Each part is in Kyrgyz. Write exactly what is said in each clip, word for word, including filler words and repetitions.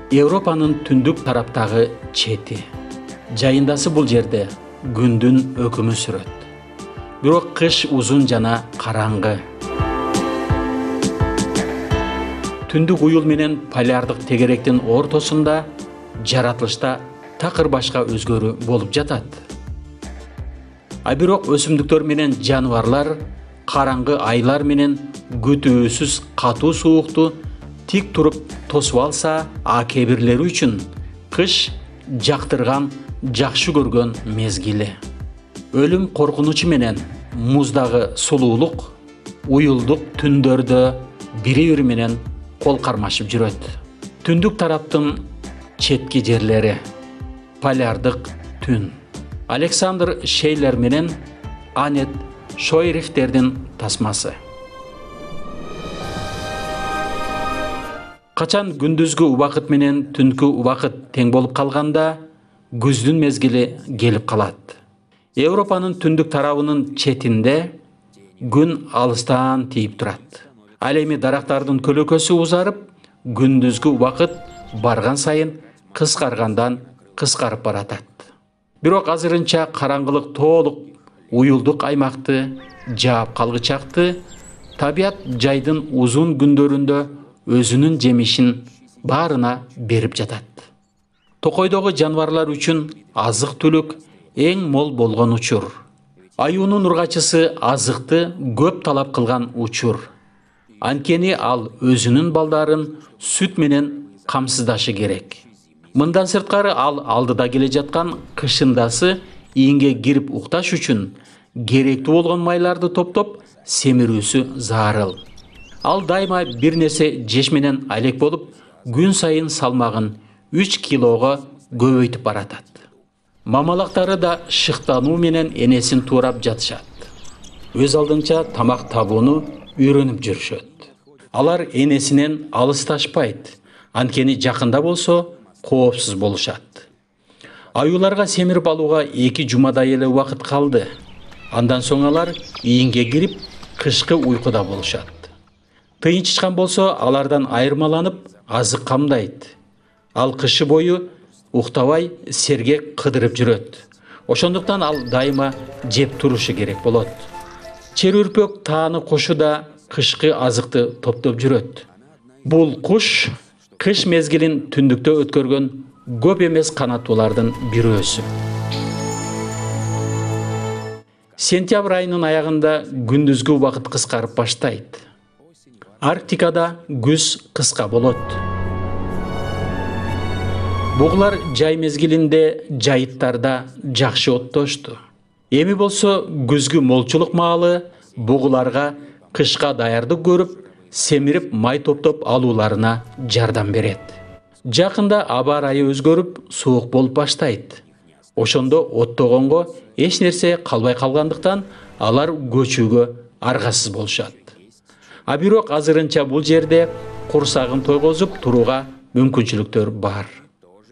Европанын түндүк тараптагы чети. Жайындасы бул жерде күндүн өкүмү сүрөт. Бирок кыш узун жана караңгы. Түндүк уюл менен полярдык тегеректин ортосунда жаратылышта такыр башка өзгөрүү болуп жатат. А бирок өсүмдүктөр менен жаныбарлар караңгы айлар менен күтүүсүз катуу суукту тик туруп тосуп алса, а кээ бирлери үчүн кыш жактырган, жакшы көргөн мезгили. Өлүм коркунучу менен муздагы сулуулук уюлдук түндөрдө бири-бири менен кол кармашып жүрөт. Түндүк тараптын четки жерлери. Полярдык түн. Александр Шейлер менен Анет Шойрихтердин тасмасы. Качан күндүзгү убакыт менен түнкү убакыт тең болуп калганда, күздүн мезгили келип калат. Европанын түндүк тарабынын четинде күн алыстан тийип турат. Ал эми дарактардын көлөкөсү узарып, күндүзгү убакыт барган сайын кыскаргандан кыскарып баратат. Бирок азырынча караңгылык толук уюлдук аймакты жаап калгычакты, табият жайдын узун күндөрүндө өзүнүн жемишин баарына берип жатат. Токойдогу жаныбарлар үчүн азык-түлүк эң мол болгон учур. Аюунун ургачысы азыкты көп талап кылган учур. Анткени ал өзүнүн балдарын сүт менен камсыздашы керек. Мындан сырткары ал алдыда келе жаткан кышындасы ийинге кирип укташ үчүн керектүү болгон майларды топтоп семирүүсү зарыл. Ал дайыма бир нерсе жеш менен алек болуп, күн сайын салмагын үч килого көбөйтүп баратат. Мамалактары да шыктануу менен энесин туурап жатышат. Өз алдынча тамак табууну үйрөнүп жүрүшөт. Алар энесинен алысташпайт, анткени жакында болсо коопсуз болушат. Аюуларга семирип алууга эки жумадай эле убакыт калды. Андан соң алар ийинге кирип, кышкы уйкуда болушат. Тыйынчычкан болсо алардан айырмаланып азык камдайт. Ал кышы бою уктабай сергек кыдырып жүрөт. Ошондуктан ал дайыма жеп турушу керек болот. Чер-үрпөк тааны кушу да кышкы азыкты топтоп жүрөт. Бул куш кыш мезгилин түндүктө өткөргөн көп эмес канаттуулардын бирөөсү. Сентябрь айынын аягында күндүзгү убакыт кыскарып баштайт. Арктикада күз кыска болот. Бугулар жай мезгилинде жайыттарда жакшы оттошту. Эми болсо күзгү молчулук маалы бугуларга кышка даярдык көрүп, семирип май топтоп алууларына жардам берет. Жакында аба ырайы өзгөрүп, суук болуп баштайт. Ошондо оттогонго эч нерсе калбай калгандыктан алар көчүүгө аргасыз болушат. А бирок азырынча бул жерде курсагын тойгозуп турууга мүмкүнчүлүктөр бар.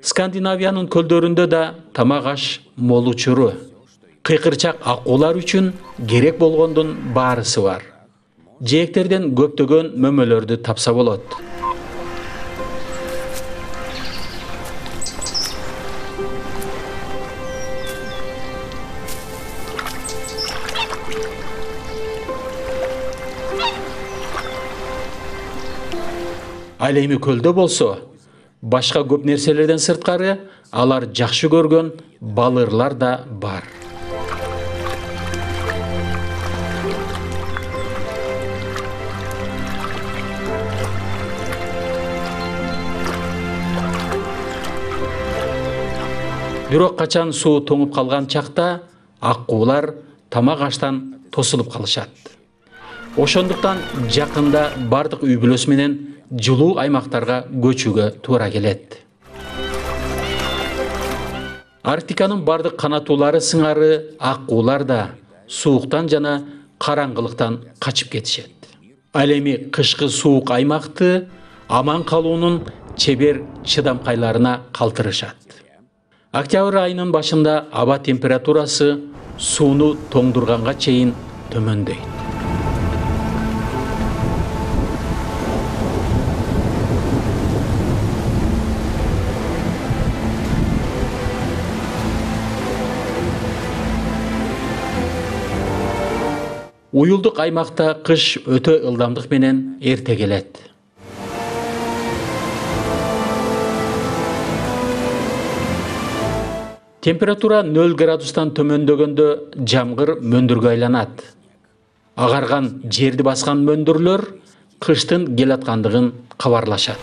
Скандинавиянын көлдөрүндө да тамак аш мол учуру. Кыйкырчак акуулар үчүн керек болгондун баарысы бар. Жээктерден көптөгөн мөмөлөрдү тапса болот. Ал эми көлдө болсо, башка көп нерселерден сырткары алар жакшы көргөн балырлар да бар. Бирок качан суу тоңуп калган чакта аккуулар тамак аштан тосулуп калышат. Ошондуктан жакында бардык үй бүлөсү менен жылуу аймактарга көчүүгө туура келет. Арктиканын бардык канаттуулары сыңары аккуулар да сууктан жана караңгылыктан качып кетишет. Ал эми кышкы суук аймакты аман калуунун чебер чыдамкайларына калтырышат. Октябрь айынын башында аба температурасы сууну тоңдурганга чейин төмөндөйт. Уюлдук аймакта кыш өтө ылдамдык менен эрте келет. Температура нөл градустан төмөндөгөндө жамгыр мөндүргө айланат. Агарган жерди баскан мөндүрлөр кыштын келаткандыгын кабарлашат.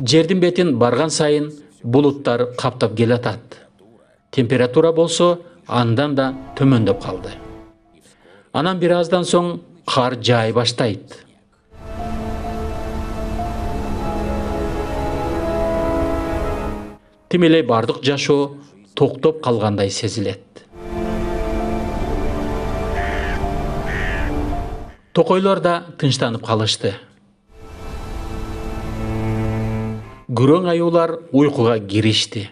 Жердин бетин барган сайын булуттар каптап келатат. Температура болсо андан да төмөндөп калды. Анан бир аздан соң кар жаай баштайт. Тим эле бардык жашоо токтоп калгандай сезилет. Токойлор да тынчтанып калышты. Күрөң аюулар уйкуга киришти.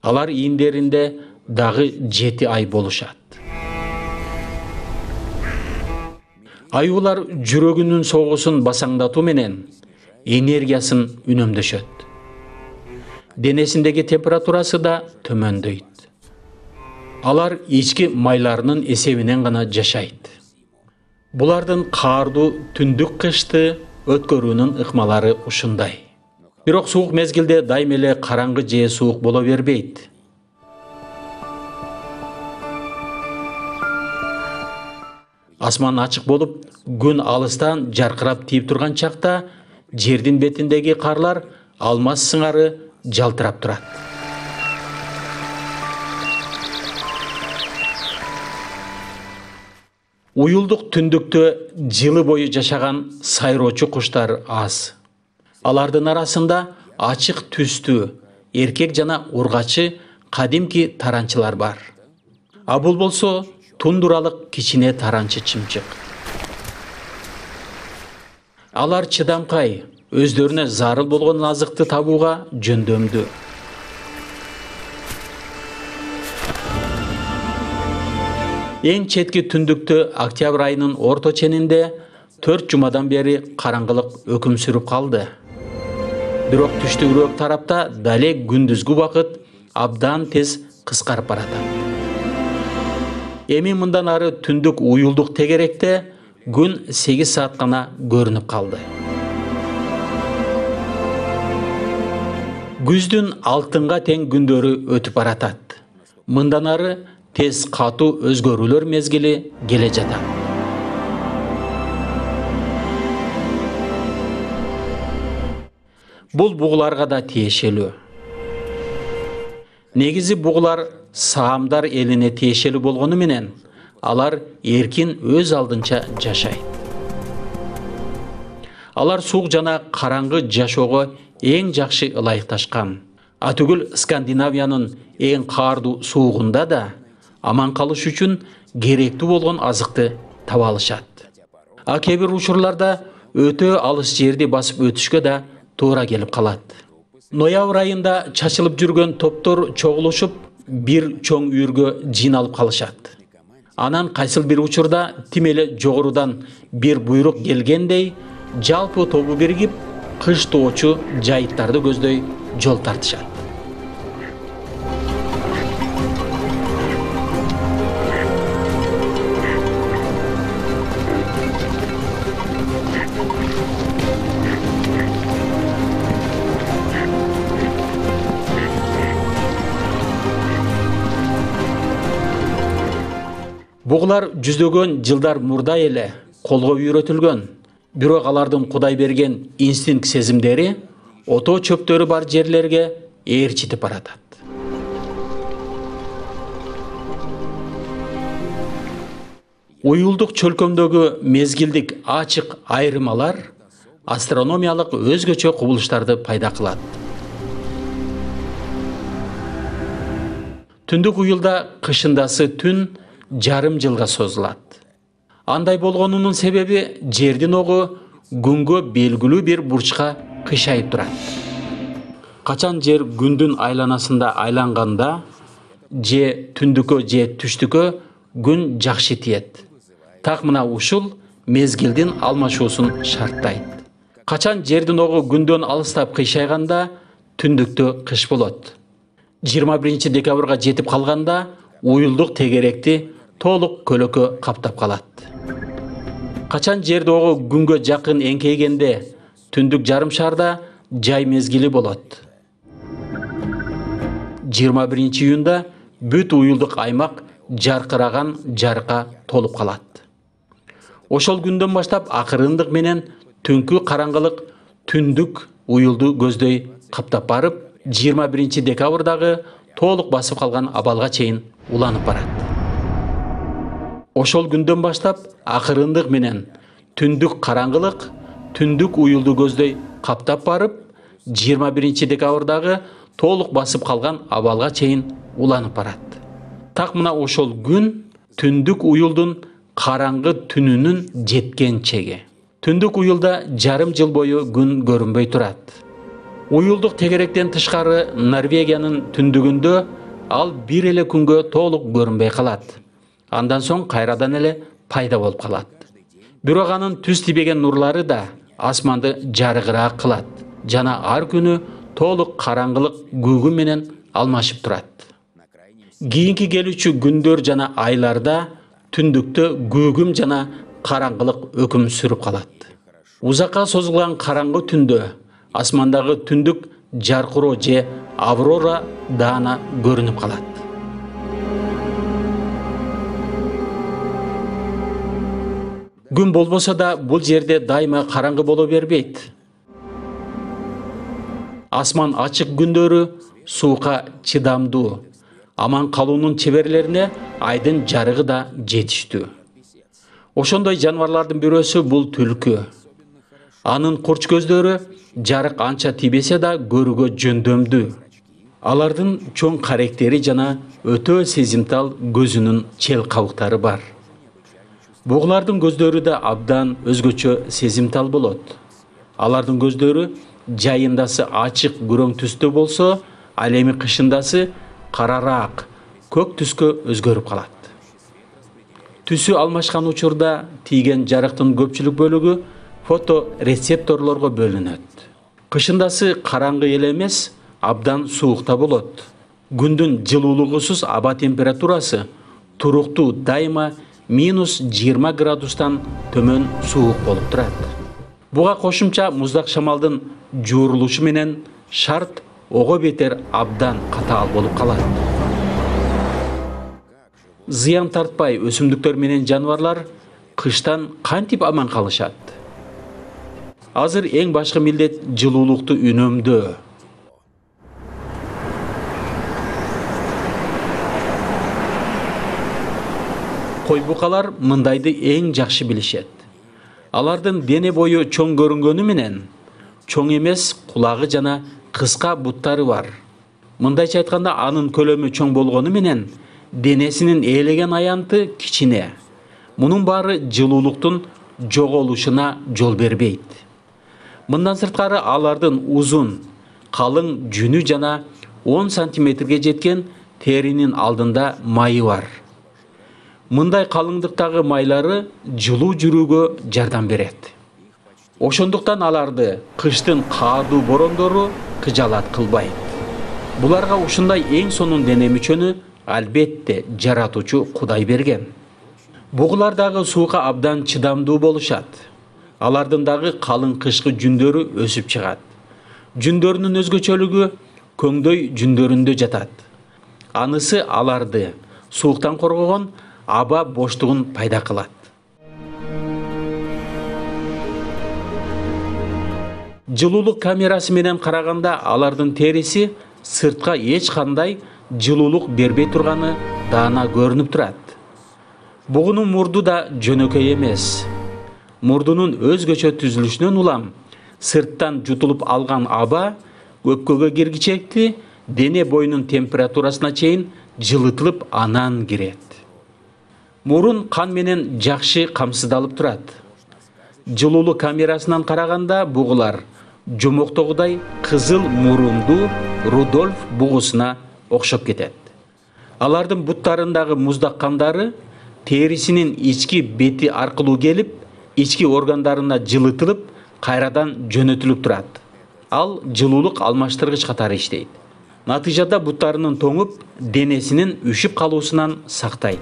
Алар ийиндеринде дагы жети ай болушат. Аюулар жүрөгүнүн согуусун басаңдатуу менен энергиясын үнөмдөшөт. Денесиндеги температурасы да төмөндөйт. Алар ички майларынын эсебинен гана жашайт. Булардын каардуу түндүк кышты өткөрүүнүн ыкмалары ушундай. Бирок суук мезгилде дайым эле караңгы же суук боло бербейт. Асман ачык болуп, күн алыстан жаркырап тийип турган чакта жердин бетиндеги карлар алмаз сыңары жалтырап турат. Уюлдук түндүктө жылы бою жашаган сайроочу куштар аз. Алардын арасында ачык түстүү эркек жана ургачы кадимки таранчылар бар. А бул болсо тундуралык кичине таранчы чымчык. Алар чыдамкай, өздөрүнө зарыл болгон азыкты табууга жөндөмдүү. Эң четки түндүктө октябрь айынын орто ченинде төрт жумадан бери караңгылык өкүм сүрүп калды. Бирок түштүгүрөөк тарапта далек күндүзгү убакыт абдан тез кыскарып баратат. Эми мындан ары түндүк уюлдук тегеректе күн сегиз саат гана көрүнүп калды. Күздүн алтынга тең күндөрү өтүп баратат. Мындан ары тез катуу өзгөрүүлөр мезгили келе жатат. Бул бугуларга да тиешелүү. Негизи бугулар саамдар элине тиешелүү болгону менен алар эркин өз алдынча жашайт. Алар суук жана караңгы жашоого эң жакшы ылайыкташкан. Атүгүл Скандинавиянын эң каардуу суугунда да аман калыш үчүн керектүү болгон азыкты таба алышат. А кээ бир учурларда өтө алыс жерди басып өтүшкө да туура келип калат. Ноябрь айында чачылып жүргөн топтор чогулушуп бир чоң үйүргө жыйналып калышат. Анан кайсыл бир учурда тим эле жогорудан бир буйрук келгендей жалпы тобу биригип кыш тоочу жайыттарды көздөй жол тартышат. Бугулар жүздөгөн жылдар мурда эле колго үйрөтүлгөн. Бирок алардын Кудай берген инстинкт сезимдери ото чөптөрү бар жерлерге ээрчитип баратат. Уюлдук чөлкөмдөгү мезгилдик ачык айырмалар астрономиялык өзгөчө кубулуштарды пайда кылат. Түндүк уюлда кышындасы түн жарым жылга созулат. Андай болгонунун себеби жердин огу күнгө белгилүү бир бурчка кыйшайып турат. Качан жер күндүн айланасында айланганда же түндүккө же түштүккө күн жакшы тиет. Так мына ушул мезгилдин алмашуусун шарттайт. Качан жердин огу күндөн алыстап кыйшайганда түндүктө кыш болот. жыйырма биринчи декабрга жетип калганда уюлдук тегеректи толук көлөкө каптап калат. Качан жер догу күнгө жакын эңкейгенде түндүк жарым шарда жай мезгили болот. жыйырма биринчи июнда бүт уюлдук аймак жаркыраган жарыкка толуп калат. Ошол күндөн баштап акырындык менен түнкү караңгылык түндүк уюлду көздөй каптап барып, жыйырма биринчи декабрдагы толук басып калган абалга чейин уланып барат. Ошол күндөн баштап акырындык менен түндүк караңгылык түндүк уюлду көздөй каптап барып, жыйырма биринчи декабрдагы толук басып калган абалга чейин уланып барат. Так мына ошол күн түндүк уюлдун караңгы түнүнүн жеткен чеги. Түндүк уюлда жарым жыл бою күн көрүнбөй турат. Уюлдук тегеректен тышкары Норвегиянын түндүгүндө ал бир эле күнгө толук көрүнбөй калат. Андан соң кайрадан эле пайда болуп калат. Бирок анын түз тийбеген нурлары да асманды жарыгыраак кылат жана ар күнү толук караңгылык күгү менен алмашып турат. Кийинки келүүчү күндөр жана айларда түндүктө күгүм жана караңгылык өкүм сүрүп калат. Узакка созулган караңгы түндө асмандагы түндүк жаркыроо же аврора даана көрүнүп калат. Күн болбосо да бул жерде дайыма караңгы боло бербейт. Асман ачык күндөрү суукка чыдамдуу, аман калуунун чеберлерине айдын жарыгы да жетиштүү. Ошондой жаныбарлардын бирөөсү бул түлкү. Анын курч көздөрү жарык анча тийбесе да көрүүгө жөндөмдүү. Алардын чоң каректери жана өтө сезимтал көзүнүн чел кабыктары бар. Бугулардын көздөрү да абдан өзгөчө сезимтал болот. Алардын көздөрү жайындасы ачык күрөң түстө болсо, ал эми кышындасы карараак, көк түскө өзгөрүп калат. Түсү алмашкан учурда тийген жарыктын көпчүлүк бөлүгү фоторецепторлорго бөлүнөт. Кышындасы караңгы эле эмес, абдан суукта болот. Күндүн жылуулугусуз аба температурасы туруктуу дайыма минус жыйырма градустан төмөн суук болуп турат. Буга кошумча муздак шамалдын жуурулушу менен шарт ого бетер абдан катаал болуп калат. Зыян тартпай өсүмдүктөр менен жаныбарлар кыштан кантип аман калышат? Азыр эң башкы милдет жылуулукту үнөмдөө. Кой букалар мындайды эң жакшы билишет. Алардын дене бою чоң көрүнгөнү менен чоң эмес кулагы жана кыска буттары бар. Мындайча айтканда анын көлөмү чоң болгону менен денесинин ээлеген аянты кичине. Мунун баары жылуулуктун жоголушуна жол бербейт. Мындан сырткары алардын узун, калың жүнү жана он сантиметрге жеткен теринин алдында майы бар. Мындай калыңдыктагы майлары жылуу жүрүүгө жардам берет. Ошондуктан аларды кыштын каадуу борондору кыжалат кылбайт. Буларга ушундай эң сонун дене мүчөнү албетте жаратуучу Кудай берген. Бугулар дагы суукка абдан чыдамдуу болушат. Алардын дагы калың кышкы жүндөрү өсүп чыгат. Жүндөрүнүн өзгөчөлүгү көңдөй жүндөрүндө жатат. Анысы аларды сууктан коргогон аба боштугун пайда кылат. Жылуулук камерасы менен караганда алардын териси сыртка эч кандай жылуулук бербей турганы даана көрүнүп турат. Бугунун мурду да жөнөкөй эмес. Мурдунун өзгөчө түзүлүшүнөн улам сырттан жутулуп алган аба өпкөгө киргичекти дене боюнун температурасына чейин жылытылып анан кирет. Мурун кан менен жакшы камсыздалып турат. Жылуулук камерасынан караганда бугулар жомоктогудай кызыл мурунду Рудольф бугусуна окшоп кетет. Алардын буттарындагы муздак кандары терисинин ички бети аркылуу келип, ички органдарына жылытылып, кайрадан жөнөтүлүп турат. Ал жылуулук алмаштыргыч катары иштейт. Натыйжада буттарынын тоңуп, денесинин үшүп калуусунан сактайт.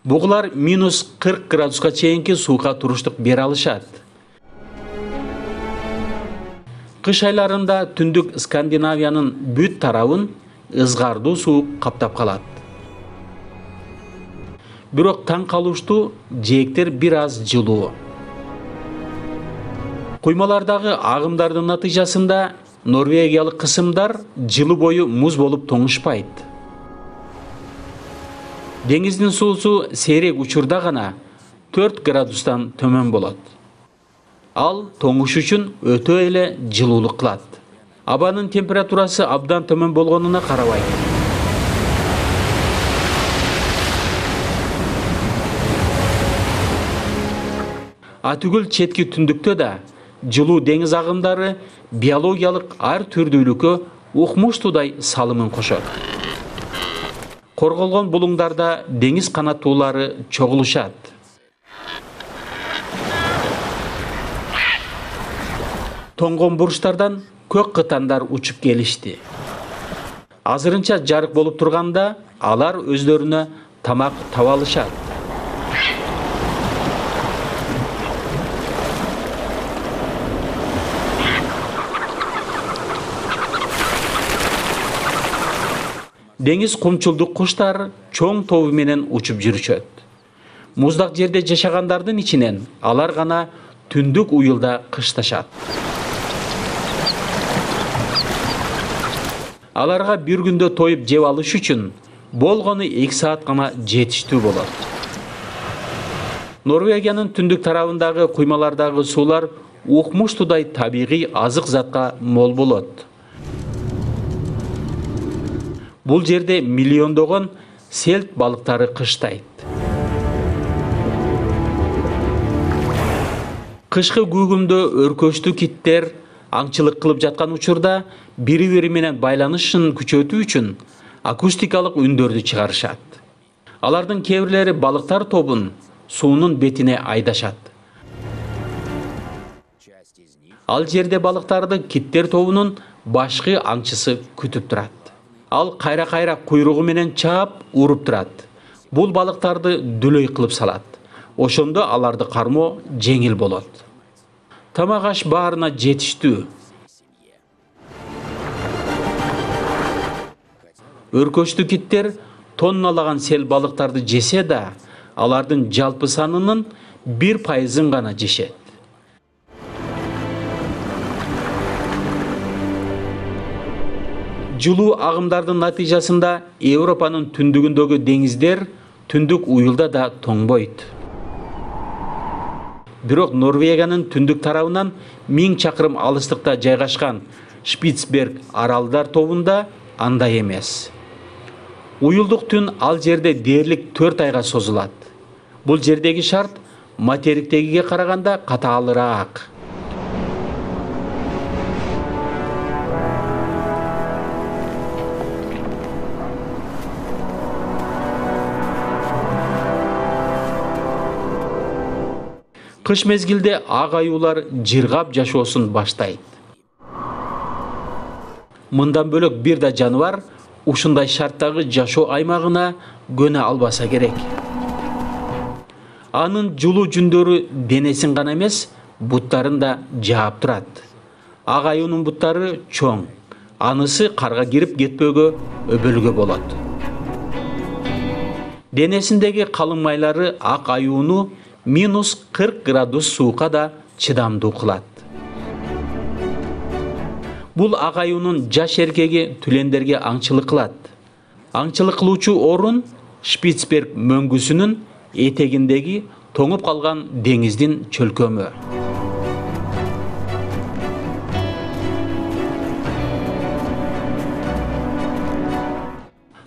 Бугулар минус кырк градуска чейинки сууга туруштук бере алышат. Кыш айларында түндүк Скандинавиянын бүт тарабын ызгардуу суу каптап калат. Бирок таң калыштуу, жээктер бир аз жылуу. Куймалардагы агымдардын натыйжасында норвегиялык кысымдар жылы бою муз болуп тоңушпайт. Деңиздин суусу сейрек учурда гана төрт градустан төмөн болот. Ал тоңуш үчүн өтө эле жылуулук кылат. Абанын температурасы абдан төмөн болгонуна карабай. Атүгүл четки түндүктө да жылуу деңиз агымдары биологиялык ар түрдүүлүккө укмуштуудай салымын кошот. Корголгон булуңдарда деңиз канаттуулары чогулушат. Тоңгон бурчтардан көк кытандар учуп келишти. Азырынча жарык болуп турганда алар өздөрүнө тамак таба алышат. Деңиз кумчулдук куштар чоң тобу менен учуп жүрүшөт. Муздак жерде жашагандардын ичинен алар гана түндүк уюлда кышташат. Аларга бир күндө тоюп жеп алыш үчүн болгону эки саат гана жетиштүү болот. Норвегиянын түндүк тарабындагы куймалардагы суулар укмуштуудай табигый азык затка мол болот. Бул жерде миллиондогон селт балыктары кыштайт. Кышкы күүгүмдө өркөчтүү киттер аңчылык кылып жаткан учурда бири-бири менен байланышын күчөтүү үчүн акустикалык үндөрдү чыгарышат. Алардын кээ бирлери балыктар тобун суунун бетине айдашат. Ал жерде балыктарды киттер тобунун башкы аңчысы күтүп турат. Ал кайра-кайра куйругу менен чаап, уруп турат. Бул балыктарды дүлөй кылып салат. Ошондо аларды кармоо жеңил болот. Тамак аш баарына жетиштүү. Өркөчтүү киттер тонналаган сел балыктарды жесе да, алардын жалпы санынын бир пайызын гана жешет. Жылуу агымдардын натыйжасында Европанын түндүгүндөгү деңиздер түндүк уюлда да тоңбойт. Бирок Норвегиянын түндүк тарабынан миң чакырым алыстыкта жайгашкан Шпицберг аралдар тобунда андай эмес. Уюлдук түн ал жерде дээрлик төрт айга созулат. Бул жердеги шарт материктегиге караганда катаалыраак. Кыш мезгилде ак аюулар жыргап жашоосун баштайт. Мындан бөлөк бир да жаныбар ушундай шарттагы жашоо аймагына көнө албаса керек. Анын жулуу жүндөрү денесин гана эмес, буттарын да жаап турат. Ак аюунун буттары чоң, анысы карга кирип кетпөөгө өбөлгө болот. Денесиндеги калың майлары ак аюуну минус кырк градус сууга да чыдамдуу кылат. Бул ак аюунун жаш эркеги түлендерге аңчылык кылат. Аңчылык кылуучу орун Шпицберг мөңгүсүнүн этегиндеги тоңуп калган деңиздин чөлкөмү.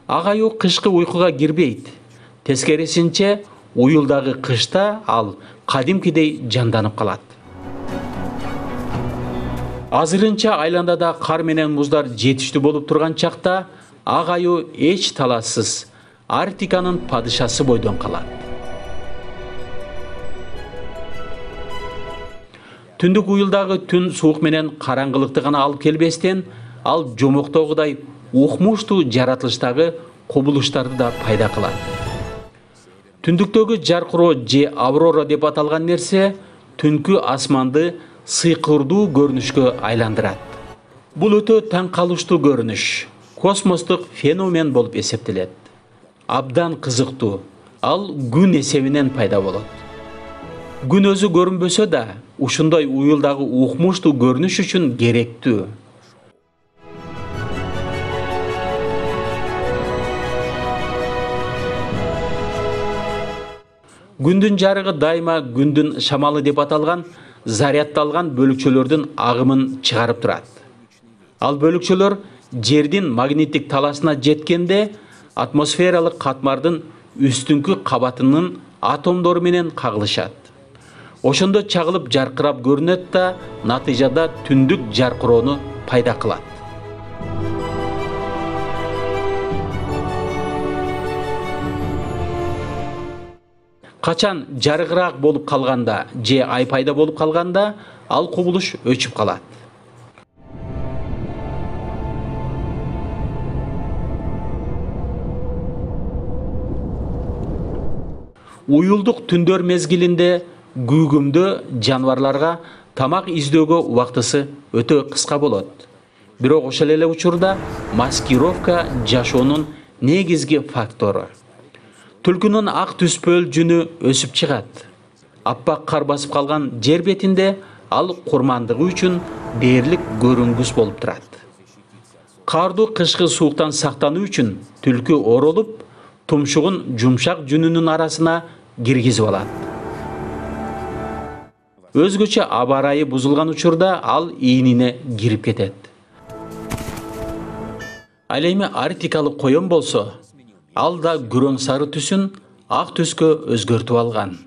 Ак аюу кышкы уйкуга кирбейт. Тескерисинче, уюлдагы кышта ал кадимкидей жанданып калат. Азырынча айландада кар менен муздар жетиштүү болуп турган чакта ак аюу эч талассыз Арктиканын падышасы бойдон калат. Түндүк уюлдагы түн суук менен караңгылыкты гана алып келбестен, ал жомоктогудай укмуштуу жаратылыштагы кубулуштарды да пайда кылат. Түндүктөгү жаркыроо же аврора деп аталган нерсе түнкү асманды сыйкырдуу көрүнүшкө айландырат. Бул өтө таң калыштуу көрүнүш, космостук феномен болуп эсептелет. Абдан кызыктуу, ал күн эсебинен пайда болот. Күн өзү көрүнбөсө да, ушундай уюлдагы укмуштуу көрүнүш үчүн керектүү. Күндүн жарыгы дайыма күндүн шамалы деп аталган зарядталган бөлүкчөлөрдүн агымын чыгарып турат. Ал бөлүкчөлөр жердин магниттик талашына жеткенде атмосфералык катмардын үстүнкү кабатынын атомдору менен кагылышат. Ошондо чагылып жаркырап көрүнөт да, натыйжада түндүк жаркыроону пайда кылат. Качан жарыгыраак болуп калганда же ай пайда болуп калганда, ал кубулуш өчүп калат. Уюлдук түндөр мезгилинде күүгүмдө жаныбарларга тамак издөөгө убактысы өтө кыска болот. Бирок ошол эле учурда маскировка жашоонун негизги фактору. Түлкүнүн ак түспөл жүнү өсүп чыгат. Аппак кар басып калган жер бетинде ал курмандыгы үчүн дээрлик көрүнгүс болуп турат. Кардуу кышкы сууктан сактануу үчүн түлкү оролуп, тумшугун жумшак жүнүнүн арасына киргизип алат. Өзгөчө аба ырайы бузулган учурда ал ийнине кирип кетет. Ал эми арктикалык коён болсо, ал да күрөң сары түсүн ак түскө өзгөртүп алган.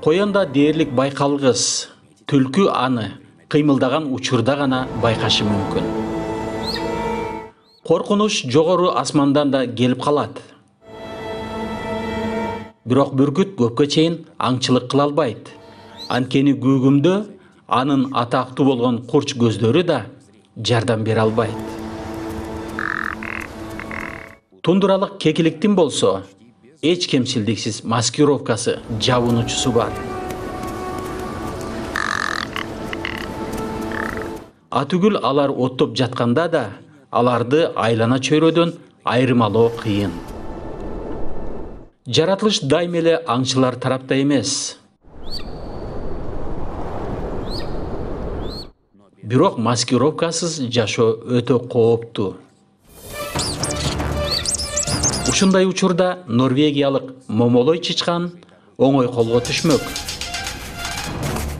Коёнда дээрлик байкалгыс, түлкү аны кыймылдаган учурда гана байкашы мүмкүн. Коркунуч жогору асмандан да келип калат. Бирок бүркүт көпкө чейин аңчылык кыла албайт. Анткени күүгүмдө анын атактуу болгон курч көздөрү да жардам бере албайт. Тундуралык кекиликтин болсо, эч кемчилдиксиз маскировкасы, жабынуучусу бар. Атүгүл алар оттоп жатканда да, аларды айлана чөйрөдөн айырмалоо кыйын. Жаратылыш дайым эле аңчылар тарапта эмес. Бирок маскировкасыз жашоо өтө кооптуу. Ушундай учурда норвегиялык момолой чычкан оңой колго түшмөк.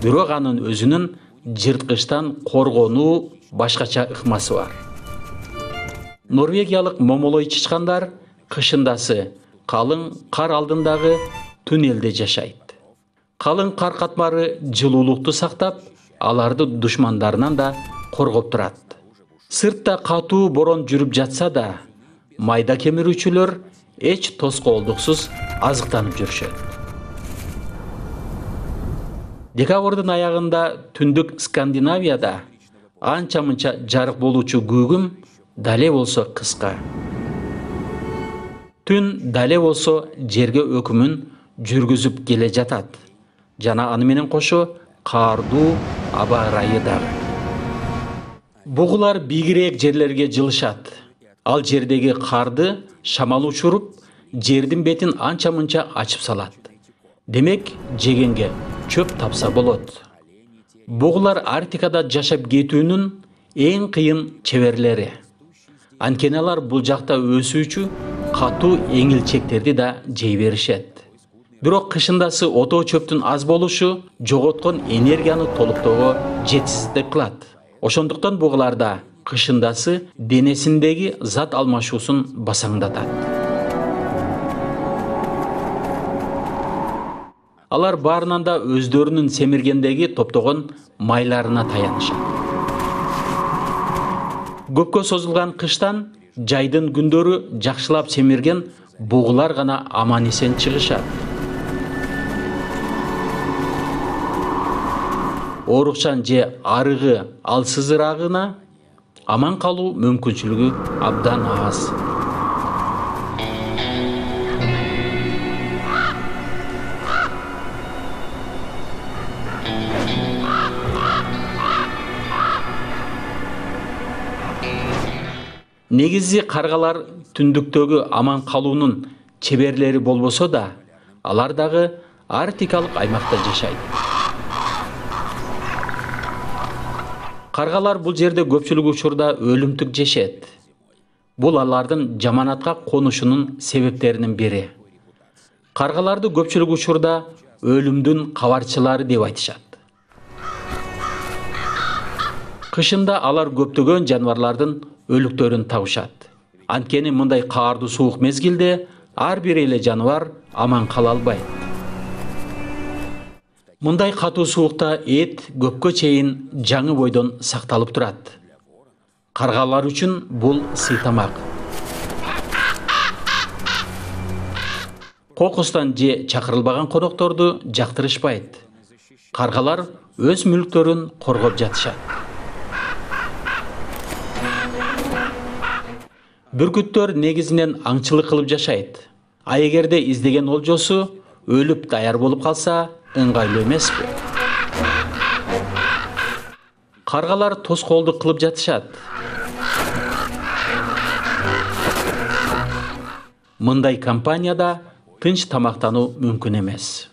Бирок анын өзүнүн жырткычтан коргонуу башкача ыкмасы бар. Норвегиялык момолой чычкандар кышындасы калың кар алдындагы туннелде жашайт. Калың кар катмары жылуулукту сактап, аларды душмандарынан да коргоп турат. Сыртта катуу борон жүрүп жатса да, майда кемирүүчүлөр эч тоскоолдуксуз азыктанып жүрүшөт. Декабрдын аягында түндүк Скандинавияда анча-мынча жарык болуучу күүгүм дале болсо кыска. Түн дале болсо жерге өкүмүн жүргүзүп келе жатат. Жана аны менен кошо каардуу аба ырайы дагы. Бугулар бийигирээк жерлерге жылышат. Ал жердеги карды шамал учуруп, жердин бетин анча-мынча ачып салат. Демек, жегенге чөп тапса болот. Бугулар Арктикада жашап кетүүнүн эң кыйын чеберлери. Анткени алар бул жакта өсүүчү катуу эңилчектерди да жей беришет. Бирок кышындасы отоо чөптүн аз болушу жоготкон энергияны толуктоого жетишсиздик кылат. Ошондуктан бугуларда кышындасы денесиндеги зат алмашуусун басаңдатат. Алар баарынан да өздөрүнүн семиргендеги топтогон майларына таянышат. Көпкө созулган кыштан жайдын күндөрү жакшылап семирген бугулар гана аман эсен чыгышат. оорукчан же арыгы алсызыраагына аман калуу мүмкүнчүлүгү абдан аз. Негизи каргалар түндүктөгү аман калуунун чеберлери болбосо да, алар дагы арктикалык аймакта жашайт. Каргалар бул жерде көпчүлүк учурда өлүмтүк жешет. Бул алардын жаманатка конушунун себептеринин бири. Каргаларды көпчүлүк учурда өлүмдүн кабарчылары деп айтышат. Кышында алар көптөгөн жаныбарлардын өлүктөрүн табышат. Анткени мындай каардуу суук мезгилде ар бир эле жаныбар аман кала албайт. Мындай катуу суукта эт көпкө чейин жаңы бойдон сакталып турат. Каргалар үчүн бул сыйтамак. Кокустан же чакырылбаган конокторду жактырышпайт. Каргалар өз мүлктөрүн коргоп жатышат. Бүркүттөр негизинен аңчылык кылып жашайт. А эгерде издеген олжосу өлүп даяр болуп калса, ыңгайлуу эмеспи? Каргалар тоскоолдук кылып жатышат. Мындай компанияда тынч тамактануу мүмкүн эмес.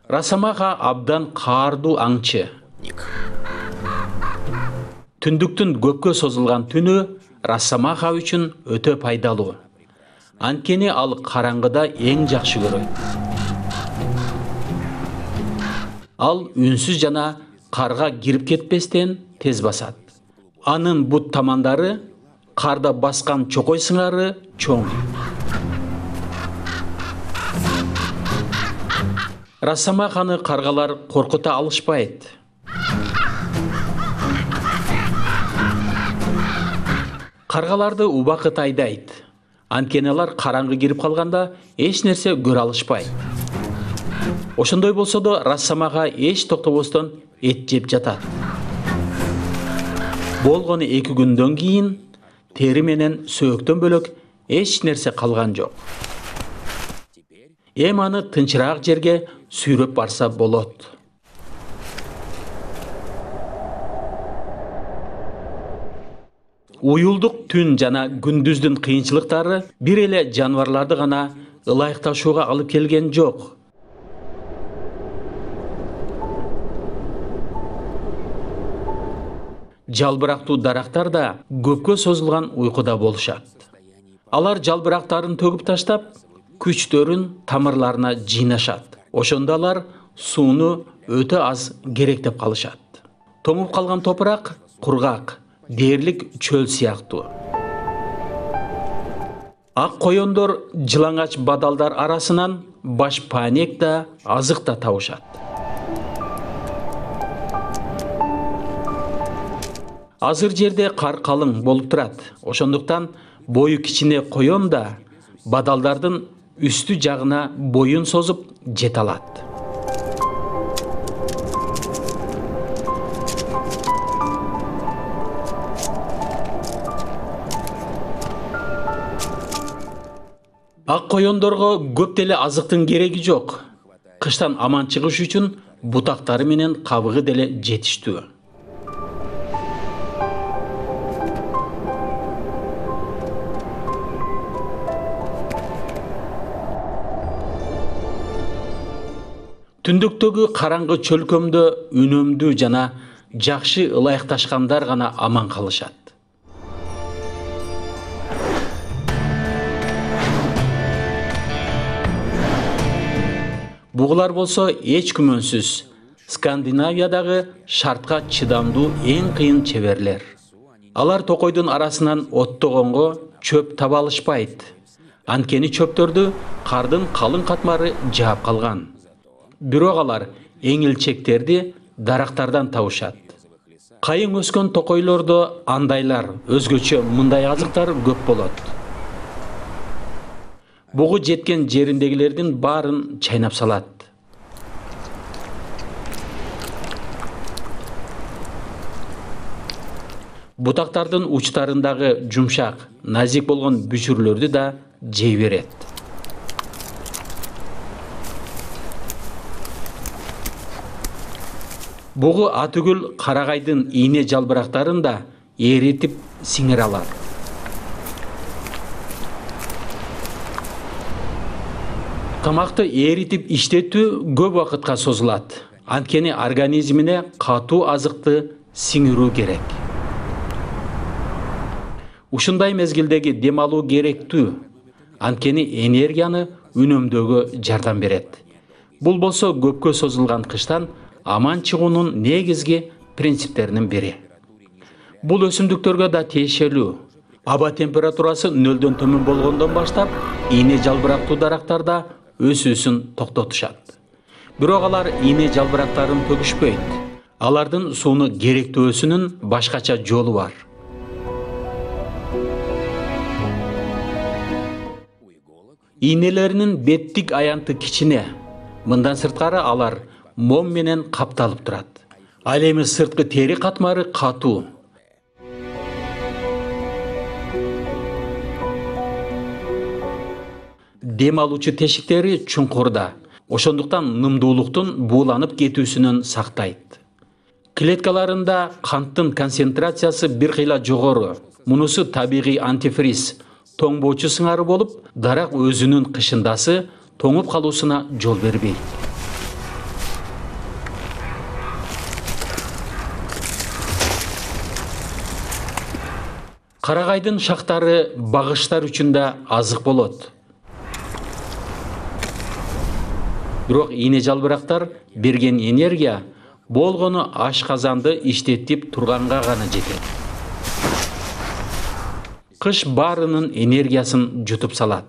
Расамаха абдан каардуу аңчы. Түндүктүн көпкө созулган түнү Расамаха үчүн өтө пайдалуу. Анткени ал караңгыда эң жакшы көрөт. Ал үнсүз жана карга кирип кетпестен тез басат. Анын бут тамандары карда баскан чокой сыңары чоң. Расамаханы каргалар коркута алышпайт. Каргаларды убакыт айдайт. Анткени алар караңгы кирип калганда эч нерсе көрө алышпайт. Ошондой болсо да Расамаха эч токтобостон эт жеп жатат. Болгону эки күндөн кийин тери менен сөөктөн бөлөк эч нерсе калган жок. Эми аны тынчыраак жерге сүйрөп барса болот. Уюлдук түн жана күндүздүн кыйынчылыктары бир эле жаныбарларды гана ылайыкташууга алып келген жок. Жалбырактуу дарактар да көпкө созулган уйкуда болушат. Алар жалбырактарын төгүп таштап, күчтөрүн тамырларына жыйнашат. Ошондо алар сууну өтө аз керектеп калышат. Тоңуп калган топурак кургак, дээрлик чөл сыяктуу. Ак коёндор жылаңач бадалдар арасынан баш паанек да, азык да табышат. Азыр жерде кар калың болуп турат. Ошондуктан бою кичине коён да бадалдардын үстү жагына боюн созуп жете алат. Ак коёндорго көп деле азыктын кереги жок. Кыштан аман чыгыш үчүн бутактары менен кабыгы деле жетиштүү. Түндүктөгү караңгы чөлкөмдө үнөмдүү жана жакшы ылайыкташкандар гана аман калышат. Бугулар болсо эч күмөнсүз Скандинавиядагы шартка чыдамдуу эң кыйын чеберлер. Алар токойдун арасынан оттогонго чөп таба алышпайт. Анткени чөптөрдү кардын калың катмары жаап калган. Бирок алар эңилчектерди дарактардан табышат. Кайың өскөн токойлордо андайлар, өзгөчө мындай азыктар көп болот. Бугу жеткен жериндегилердин баарын чайнап салат. Бутактардын учтарындагы жумшак, назик болгон бүчүрлөрдү да жей берет. Бугу атүгүл карагайдын ийне жалбырактарын да эритип сиңире алат. Тамакты эритип иштетүү көп убакытка созулат. Анткени организмине катуу азыкты сиңирүү керек. Ушундай мезгилдеги дем алуу керектүү. Анткени энергияны үнөмдөөгө жардам берет. Бул болсо көпкө созулган кыштан аман чыгуунун негизги принциптеринин бири. Бул өсүмдүктөргө да тиешелүү. Аба температурасы нөлдөн төмөн болгондон баштап ийне жалбырактуу дарактарда өсүүсүн токтотушат. Бирок алар ийне жалбырактарын төгүшпөйт. Алардын сууну керектөөсүнүн башкача жолу бар. Ийнелеринин беттик аянты кичине. Мындан сырткары алар мом менен капталып турат. Ал эми сырткы тери катмары катуу. Дем алуучу тешиктери чуңкурда. Ошондуктан нымдуулуктун бууланып кетүүсүнөн сактайт. Клеткаларында канттын концентрациясы бир кыйла жогору. Мунусу табигый антифриз, тоңбоочу сыңары болуп, дарак өзүнүн кышындасы тоңуп калуусуна жол бербейт. Карагайдын шактары багыштар үчүн да азык болот. Бирок ийне жалбырактар берген энергия болгону ашказанды иштетип турганга гана жетет. Кыш баарынын энергиясын жутуп салат.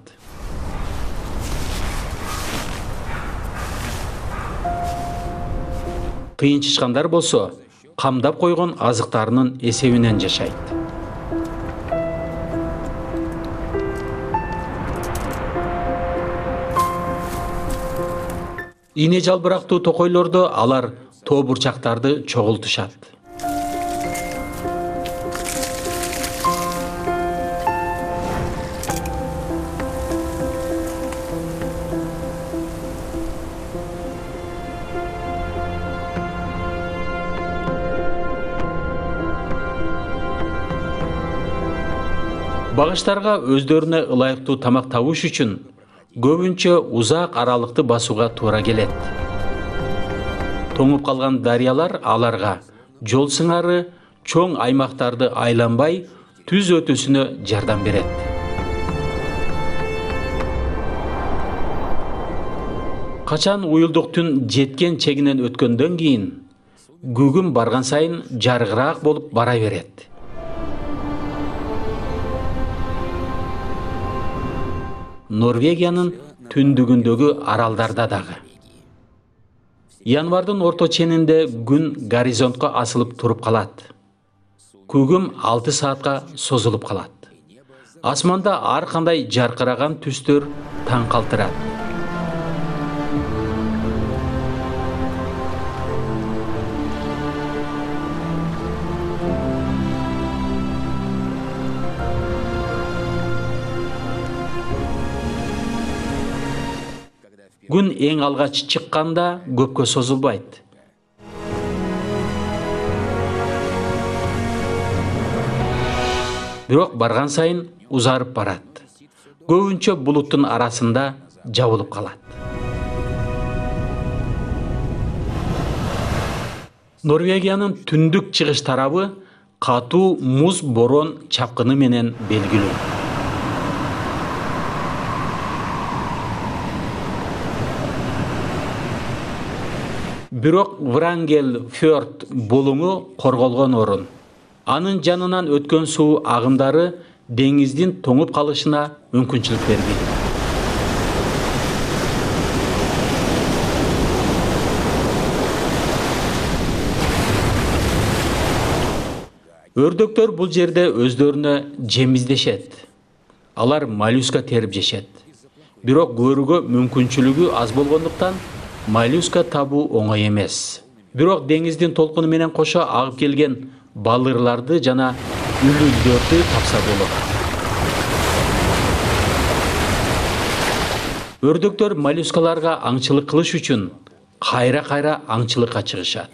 Кыйынчычкандар болсо камдап койгон азыктарынын эсебинен жашайт. Ийне жалбырактуу токойлордо алар тоо бурчактарды чогултушат. Багыштарга өздөрүнө ылайыктуу тамак табыш үчүн көбүнчө узак аралыкты басууга туура келет. Тоңуп калган дарыялар аларга жол сыңары чоң аймактарды айланбай түз өтүүсүнө жардам берет. Качан уюлдук түн жеткен чегинен өткөндөн кийин күгүм барган сайын жарыгыраак болуп бара берет. Норвегиянын түндүгүндөгү аралдарда дагы. Январдын орто ченинде күн горизонтко асылып туруп калат. Күгүм алты саатка созулуп калат. Асманда ар кандай жаркыраган түстөр таң калтырат. Күн эң алгач чыкканда көпкө созулбайт. Бирок барган сайын узарып барат. Көбүнчө булуттун арасында жабылып калат. Норвегиянын түндүк чыгыш тарабы катуу муз борон чапкыны менен белгилүү. Бирок Врангел фьорд булуңу корголгон орун. Анын жанынан өткөн суу агымдары деңиздин тоңуп калышына мүмкүнчүлүк бербейт. Өрдөктөр бул жерде өздөрүнө жем издешет. Алар моллюска терип жешет. Бирок көрүүгө мүмкүнчүлүгү аз болгондуктан моллюска табуу оңой эмес. Бирок деңиздин толкуну менен кошо агып келген балырларды жана үлүлдөрдү тапса болот. Өрдөктөр моллюскаларга аңчылык кылыш үчүн кайра-кайра аңчылыкка чыгышат.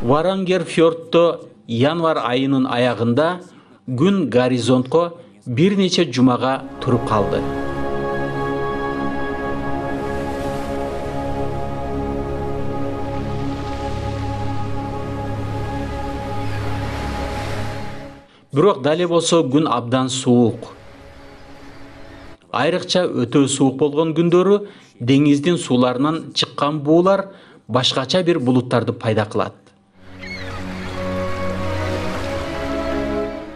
Варангер фьордто январь айынын аягында күн горизонтко бир нече жумага туруп калды. Бирок дале болсо күн абдан суук. Айрыкча өтө суук болгон күндөрү деңиздин сууларынан чыккан буулар башкача бир булуттарды пайда кылат.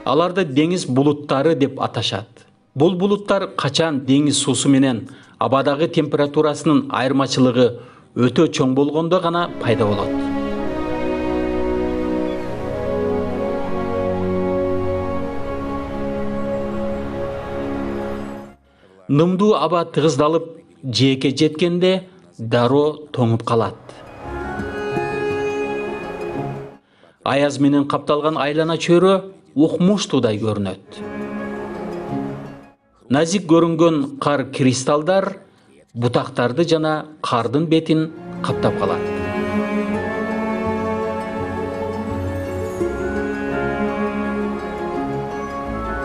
Аларды деңиз булуттары деп аташат. Бул булуттар качан деңиз суусу менен абадагы температурасынын айырмачылыгы өтө чоң болгондо гана пайда болот. Нымдуу аба тыгыздалып жээкке жеткенде дароо тоңуп калат. Аяз менен капталган айлана чөйрө укмуштуудай көрүнөт. Назик көрүнгөн кар кристалдар бутактарды жана кардын бетин каптап калат.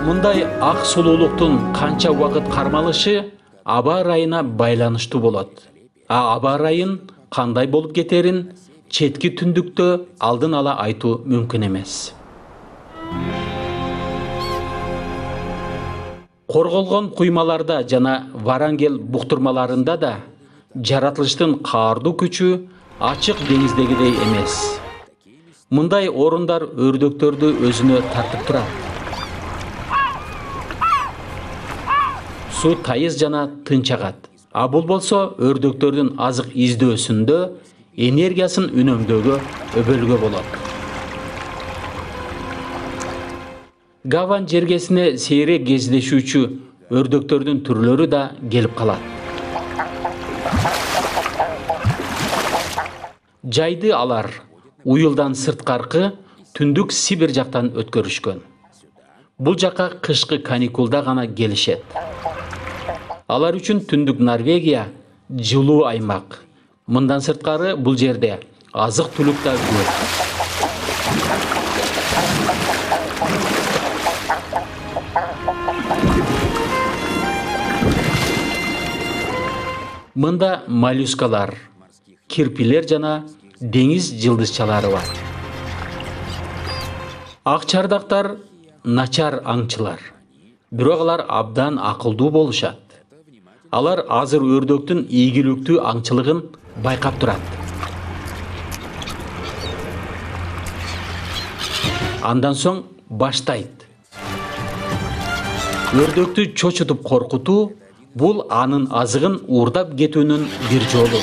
Мындай ак сулуулуктун канча убакыт кармалышы аба ырайына байланыштуу болот. А аба ырайын кандай болуп кетерин четки түндүктө алдын ала айтуу мүмкүн эмес. Корголгон куймаларда жана Варангел буктурмаларында да жаратылыштын каардуу күчү ачык деңиздегидей эмес. Мындай орундар өрдөктөрдү өзүнө тартып турат. Суу тайыз жана тынч агат. А бул болсо өрдөктөрдүн азык издөөсүндө энергиясын үнөмдөөгө өбөлгө болот. Гаван жергесине сейрек кездешүүчү өрдөктөрдүн түрлөрү да келип калат. Жайды алар уюлдан сырткаркы түндүк Сибирь жактан өткөрүшкөн. Бул жакка кышкы каникулда гана келишет. Алар үчүн түндүк Норвегия жылуу аймак. Мындан сырткары бул жерде азык түлүк да көп. Мында моллюскалар, кирпилер жана деңиз жылдызчалары бар. Ак чардактар начар аңчылар. Бирок алар абдан акылдуу болушат. Алар азыр өрдөктүн ийгиликтүү аңчылыгын байкап турат. Андан соң баштайт. Өрдөктү чочутуп коркутуу бул анын азыгын уурдап кетүүнүн бир жолу.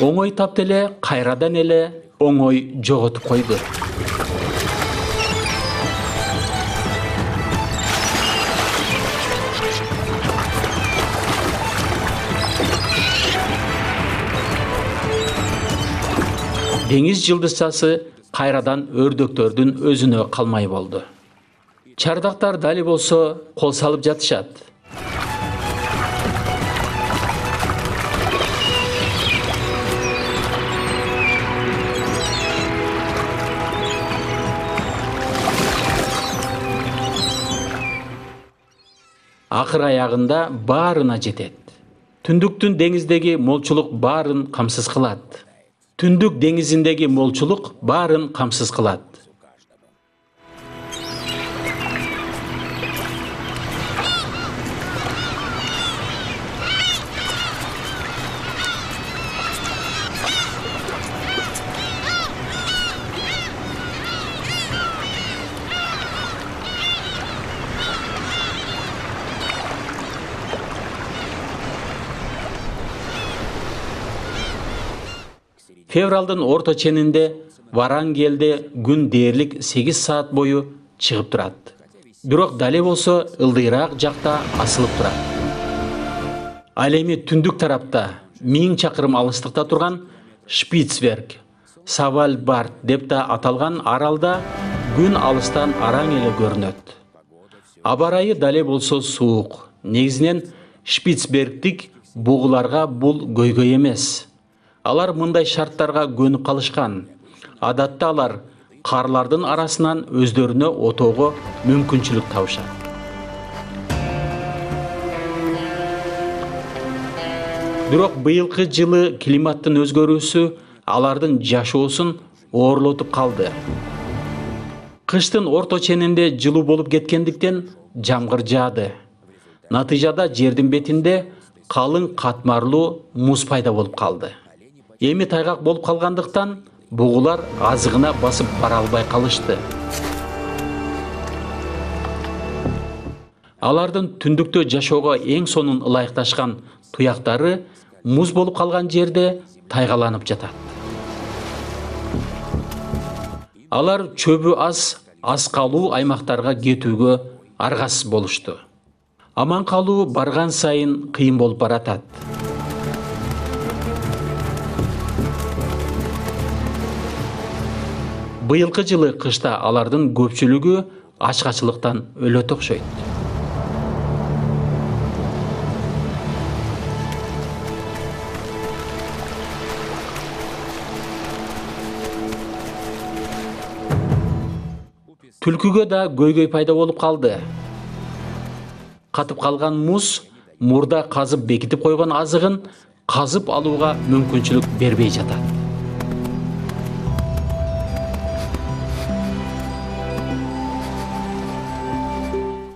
Оңой тапты эле, кайрадан эле оңой жоготуп койду. Деңиз жылдызчасы кайрадан өрдөктөрдүн өзүнө калмай болду. Чардактар дали болсо кол салып жатышат. Акыр аягында баарына жетет. Түндүктүн деңиздеги молчулук баарын камсыз кылат. Түндүк деңизиндеги молчулук баарын камсыз кылат. Февралдын орто ченинде Варангелде күн дээрлик сегиз саат бою чыгып турат. Бирок дале болсо ылдыйраак жакта асылып турат. Ал эми түндүк тарапта миң чакырым алыстыкта турган Шпицберг, Свальбард деп да аталган аралда күн алыстан араң эле көрүнөт. Аба ырайы дале болсо суук. Негизинен Шпицбергдик бугуларга бул көйгөй эмес. Алар мындай шарттарга көнүп калышкан. Адатта алар карлардын арасынан өздөрүнө отоого мүмкүнчүлүк табышат. Бирок быйылкы жылы климаттын өзгөрүүсү алардын жашоосун оорлотуп калды. Кыштын орто ченинде жылуу болуп кеткендиктен жамгыр жаады. Натыйжада жердин бетинде калың катмарлуу муз пайда болуп калды. Эми тайгак болуп калгандыктан бугулар азыгына басып бара албай калышты. Алардын түндүктө жашоого эң сонун ылайыкташкан туяктары муз болуп калган жерде тайгаланып жатат. Алар чөбү аз, аз калуу аймактарга кетүүгө аргасыз болушту. Аман калуу барган сайын кыйын болуп баратат. Быйылкы жылы кышта алардын көпчүлүгү ачкачылыктан өлөт окшойт. Түлкүгө да көйгөй пайда болуп калды. Катып калган муз мурда казып бекитип койгон азыгын казып алууга мүмкүнчүлүк бербей жатат.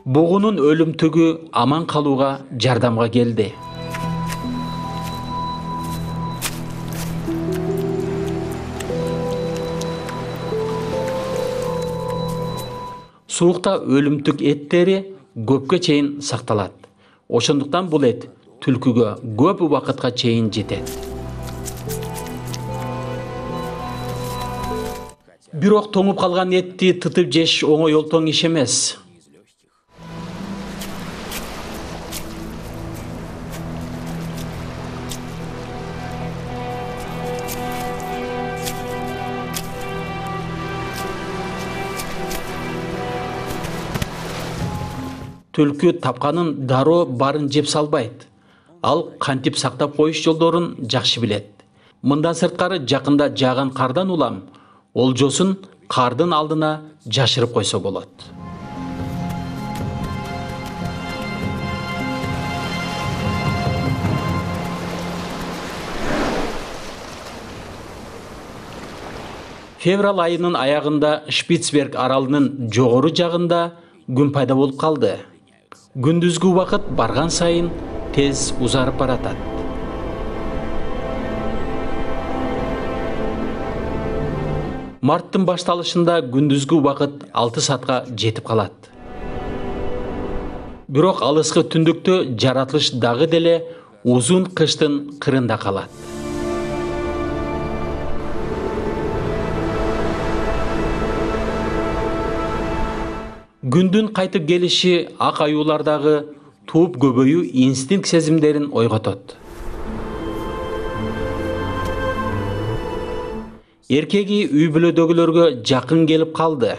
Бугунун өлүмтүгү аман калууга жардамга келди. Суукта өлүмтүк эттери көпкө чейин сакталат. Ошондуктан бул эт түлкүгө көп убакытка чейин жетет. Бирок тоңуп калган этти тытып жеш оңой олтоң иш эмес. Түлкү тапканын дароо барын жеп салбайт. Ал кантип сактап коюш жолдорун жакшы билет. Мындан сырткары жакында жааган кардан улам олжосун кардын алдына жашырып койсо болот. Февраль айынын аягында Шпицберг аралынын жогору жагында күн пайда болуп калды. Күндүзгү убакыт барган сайын тез узарып баратат. Марттын башталышында күндүзгү убакыт алты саатка жетип калат. Бирок алыскы түндүктө жаратылыш дагы деле узун кыштын кырында калат. Күндүн кайтып келиши ак аюулардагы тууп көбөйүү инстинкт сезимдерин ойготот. Эркеги үй бүлөдөгүлөргө жакын келип калды.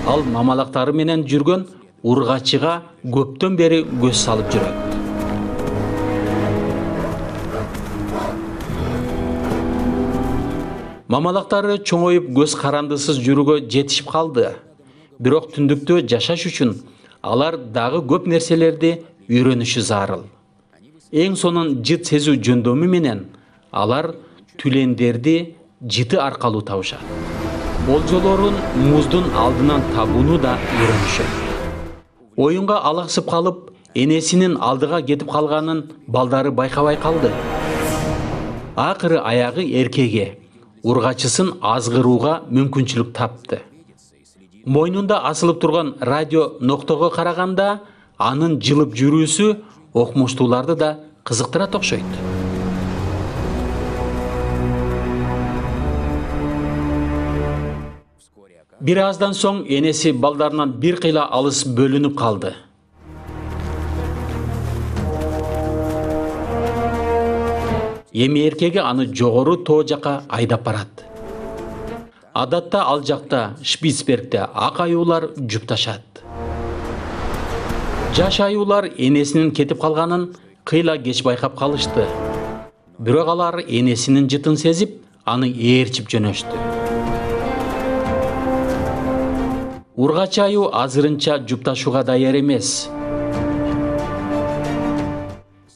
Ал мамалактары менен жүргөн ургачыга көптөн бери көз салып жүрөт. Мамалактары чоңоюп көз карандысыз жүрүүгө жетишип калды. Бирок түндүктө жашаш үчүн алар дагы көп нерселерди үйрөнүшү зарыл. Эң сонун жыт сезүү жөндөмү менен алар түлендерди жыты аркылуу табышат. Болжолорун муздун алдынан табууну да үйрөнүшөт. Оюнга алаксып калып, энесинин алдыга кетип калганын балдары байкабай калды. Акыры аягы эркеге ургачысын азгырууга мүмкүнчүлүк тапты. Мойнунда асылып турган радио ноктого караганда анын жылып жүрүүсү окумуштууларды да кызыктырат окшойт. Бир аздан соң энеси балдарынан бир кыйла алыс бөлүнүп калды. Эми эркеги аны жогору тоо жака айдап барат. Адатта ал жакта Шпицбергде ак аюулар жупташат. Жаш аюулар энесинин кетип калганын кыйла кеч байкап калышты. Бирок алар энесинин жытын сезип, аны ээрчип жөнөштү. Ургач аю азырынча жупташууга даяр эмес.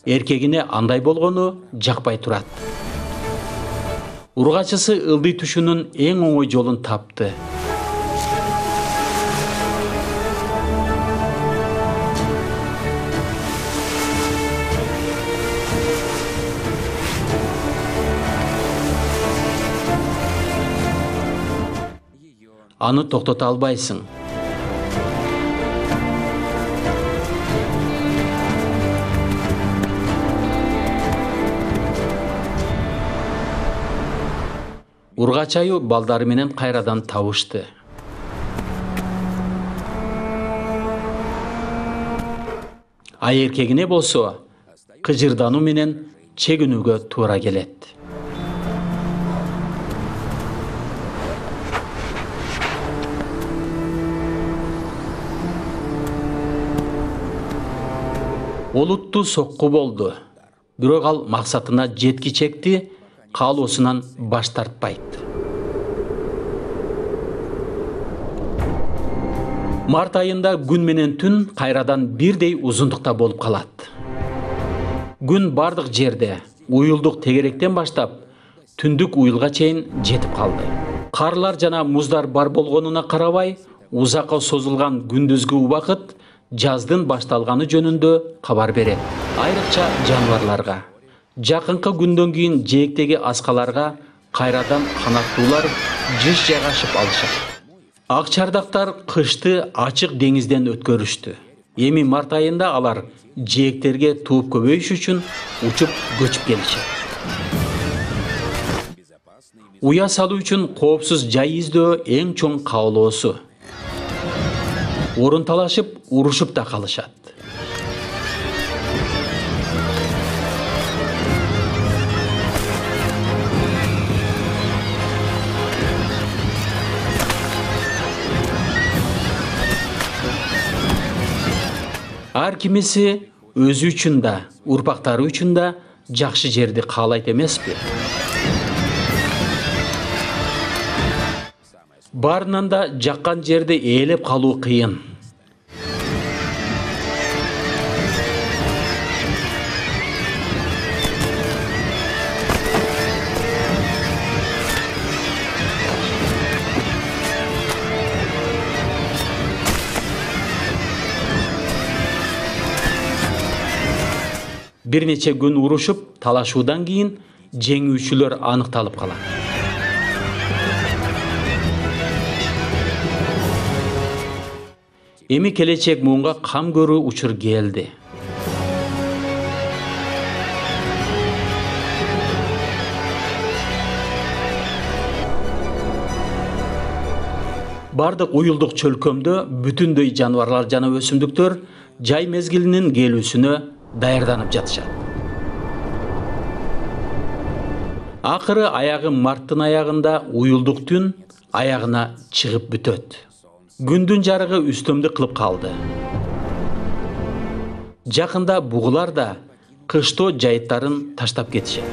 Эркегине андай болгону жакпай турат. Ургачысы ылдый түшүүнүн эң оңой жолун тапты. Аны токтото албайсың. Ургач аю балдары менен кайрадан табышты. Ай эркегине болсо кыжырдануу менен чегинүүгө туура келет. Олуттуу сокку болду. Бирок ал максатына жеткичекти, каалоосунан баш тартпайт. Март айында күн менен түн кайрадан бирдей узундукта болуп калат. Күн бардык жерде, уюлдук тегеректен баштап, түндүк уюлга чейин жетип калды. Карлар жана муздар бар болгонуна карабай, узакка созулган күндүзгү убакыт жаздын башталганы жөнүндө кабар берет. Айрыкча жаныбарларга. Жакынкы күндөн кийин жээктеги аскаларга кайрадан канаттуулар жыш жайгашып алышат. Ак чардактар кышты ачык деңизден өткөрүштү. Эми март айында алар жээктерге тууп көбөйүш үчүн учуп көчүп келишет. Уя салуу үчүн коопсуз жай издөө эң чоң каалоосу. Орун талашып, урушуп да калышат. Ар кимиси өзү үчүн да, урпактары үчүн да жакшы жерди каалайт эмеспи? Баарынан да жаккан жерди ээлеп калуу кыйын. Бир нече күн урушуп, талашуудан кийин жеңүүчүлөр аныкталып калат. Эми келечек муунга кам көрүү учур келди. Бардык уюлдук чөлкөмдө бүтүндөй жаныбарлар жана өсүмдүктөр жай мезгилинин келүүсүнө даярданып жатышат. Акыры аягы марттын аягында уюлдук түн аягына чыгып бүтөт. Күндүн жарыгы үстөмдү кылып калды. Жакында бугулар да кыштоо жайыттарын таштап кетишет.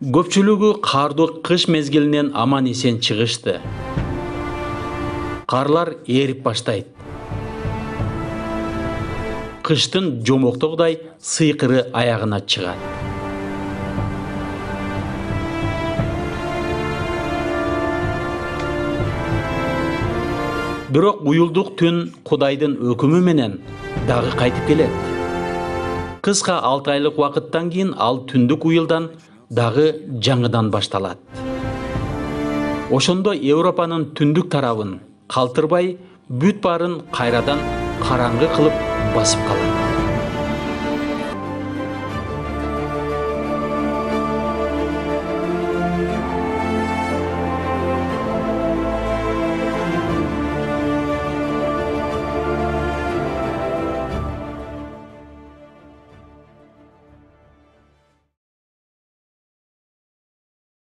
Көпчүлүгү каардуу кыш мезгилинен аман эсен чыгышты. карлар эрип баштайт. Кыштын жомоктогудай сыйкыры аягына чыгат. Бирок уюлдук түн Кудайдын өкүмү менен дагы кайтып келет. Кыска алты айлык убакыттан кийин ал түндүк уюлдан дагы жаңыдан башталат. Ошондо Европанын түндүк тарабын калтырбай, бүт баарын кайрадан караңгы кылып басып калат.